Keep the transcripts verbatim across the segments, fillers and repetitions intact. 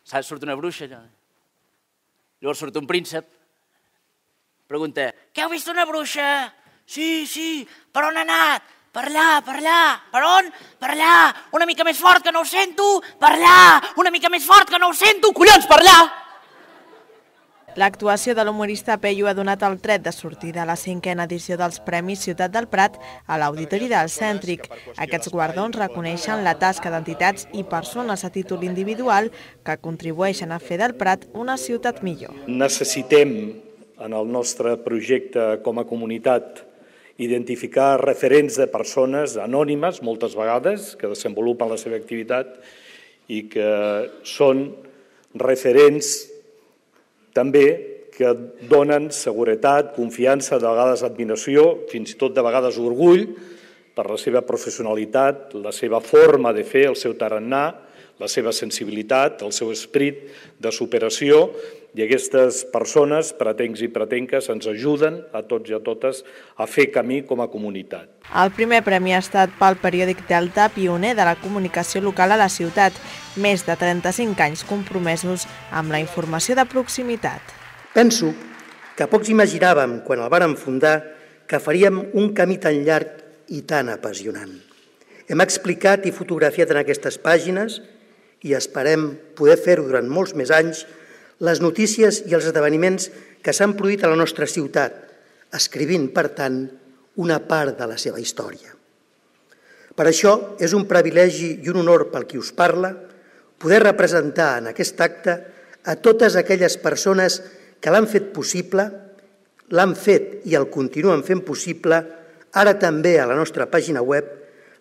Surt una bruixa, allò. Llavors surt un príncep, pregunta, què heu vist una bruixa? Sí, sí, per on ha anat? Per allà, per allà. Per on? Per allà. Una mica més fort que no ho sento. Per allà. Una mica més fort que no ho sento. Collons, per allà. L'actuació de l'humorista Peyu ha donat el tret de sortida a la cinquena edició dels Premis Ciutat del Prat a l'Auditori del Cèntric. Aquests guardons reconeixen la tasca d'entitats i persones a títol individual que contribueixen a fer del Prat una ciutat millor. Necessitem, en el nostre projecte com a comunitat, identificar referents de persones anònimes, moltes vegades, que desenvolupen la seva activitat i que són referents també que donen seguretat, confiança, de vegades admiració, fins i tot de vegades orgull per la seva professionalitat, la seva forma de fer, el seu tarannà, la seva sensibilitat, el seu esperit de superació, i aquestes persones, pretencs i pretenques, ens ajuden a tots i a totes a fer camí com a comunitat. El primer premi ha estat pel periòdic Delta, pioner de la comunicació local a la ciutat, més de trenta-cinc anys compromesos amb la informació de proximitat. Penso que pocs imaginàvem, quan el vàrem fundar, que faríem un camí tan llarg i tan apassionant. Hem explicat i fotografiat en aquestes pàgines, i esperem poder fer-ho durant molts més anys, les notícies i els esdeveniments que s'han produït a la nostra ciutat, escrivint, per tant, una part de la seva història. Per això és un privilegi i un honor pel qui us parla poder representar en aquest acte a totes aquelles persones que l'han fet possible, l'han fet i el continuen fent possible, ara també a la nostra pàgina web,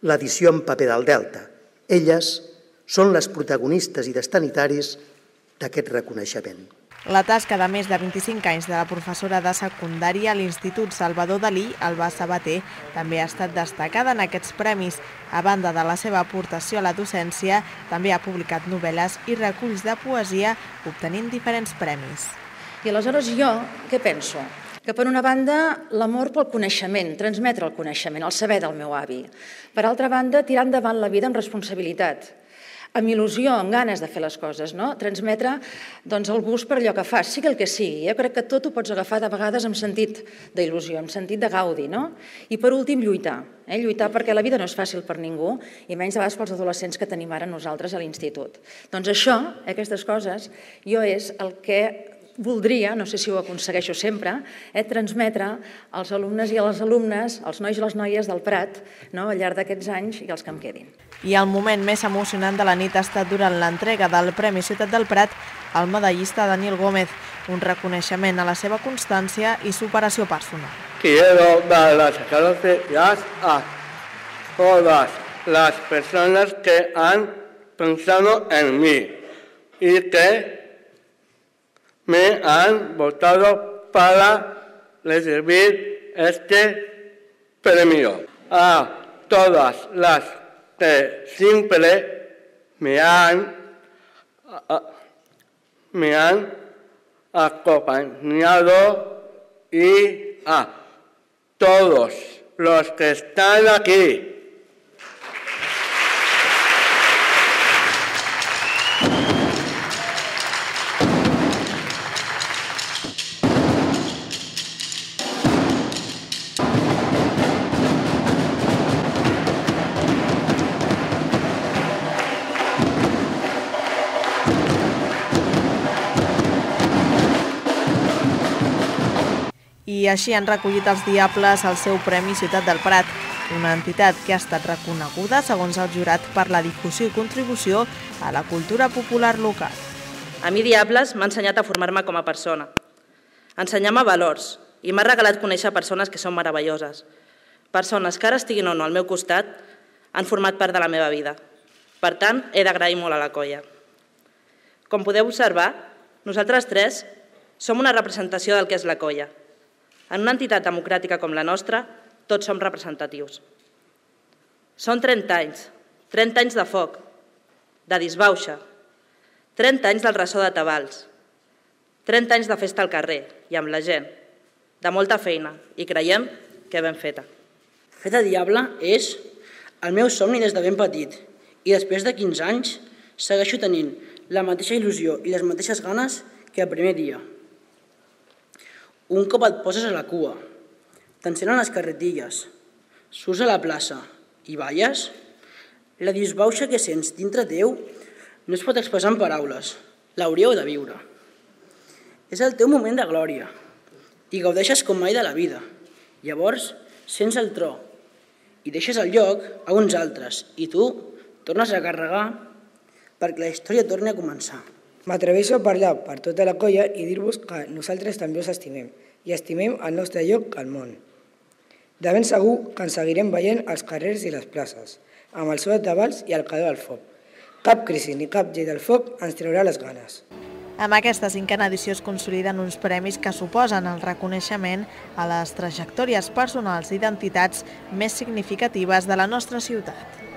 l'edició en paper del Delta. Elles són les protagonistes i destinataris d'aquest reconeixement. La tasca de més de vint-i-cinc anys de la professora de secundària a l'Institut Salvador Dalí, Alba Sabater, també ha estat destacada en aquests premis. A banda de la seva aportació a la docència, també ha publicat novel·les i reculls de poesia, obtenint diferents premis. I aleshores jo, què penso? Que per una banda, l'amor pel coneixement, transmetre el coneixement, el saber del meu avi. Per altra banda, tirar endavant la vida amb responsabilitat, amb il·lusió, amb ganes de fer les coses, no? Transmetre doncs, el gust per allò que fas, sigui el que sigui. Jo crec que tot ho pots agafar de vegades amb sentit d'il·lusió, amb sentit de gaudi, no? I per últim, lluitar. Eh? Lluitar perquè la vida no és fàcil per ningú, i menys de vegades pels adolescents que tenim ara nosaltres a l'institut. Doncs això, aquestes coses, jo és el que voldria, no sé si ho aconsegueixo sempre, eh, transmetre als alumnes i a les alumnes, als nois i les noies del Prat, no, al llarg d'aquests anys i els que em quedin. I el moment més emocionant de la nit ha estat durant l'entrega del Premi Ciutat del Prat al medallista Daniel Gómez, un reconeixement a la seva constància i superació personal. Quiero dar las gracias a todas las personas que han pensado en mí y que me han votado para recibir este premio. A todas las que siempre me han, me han acompañado y a todos los que están aquí. I així han recollit els Diables el seu Premi Ciutat del Prat, una entitat que ha estat reconeguda, segons el jurat, per la difusió i contribució a la cultura popular local. A mi Diables m'ha ensenyat a formar-me com a persona, a ensenyar-me valors, i m'ha regalat conèixer persones que són meravelloses. Persones que ara estiguin o no al meu costat han format part de la meva vida. Per tant, he d'agrair molt a la colla. Com podeu observar, nosaltres tres som una representació del que és la colla. En una entitat democràtica com la nostra, tots som representatius. Són trenta anys, trenta anys de foc, de disbauxa, trenta anys del ressò de tabals, trenta anys de festa al carrer i amb la gent, de molta feina, i creiem que ben feta. Fer de diable és el meu somni des de ben petit, i després de quinze anys segueixo tenint la mateixa il·lusió i les mateixes ganes que el primer dia. Un cop et poses a la cua, t'encenen les carretilles, surts a la plaça i balles, la disbauxa que sents dintre teu no es pot expressar en paraules, l'hauríeu de viure. És el teu moment de glòria i gaudeixes com mai de la vida. Llavors sents el tro i deixes el lloc a uns altres i tu tornes a carregar perquè la història torni a començar. M'atreveixo a parlar per tota la colla i dir-vos que nosaltres també us estimem i estimem el nostre lloc al món. De ben segur que ens seguirem veient als carrers i les places, amb el so de tabals i el calor del foc. Cap crisi ni cap llei del foc ens traurà les ganes. Amb aquesta cinquena edició es consoliden uns premis que suposen el reconeixement a les trajectòries personals i identitats més significatives de la nostra ciutat.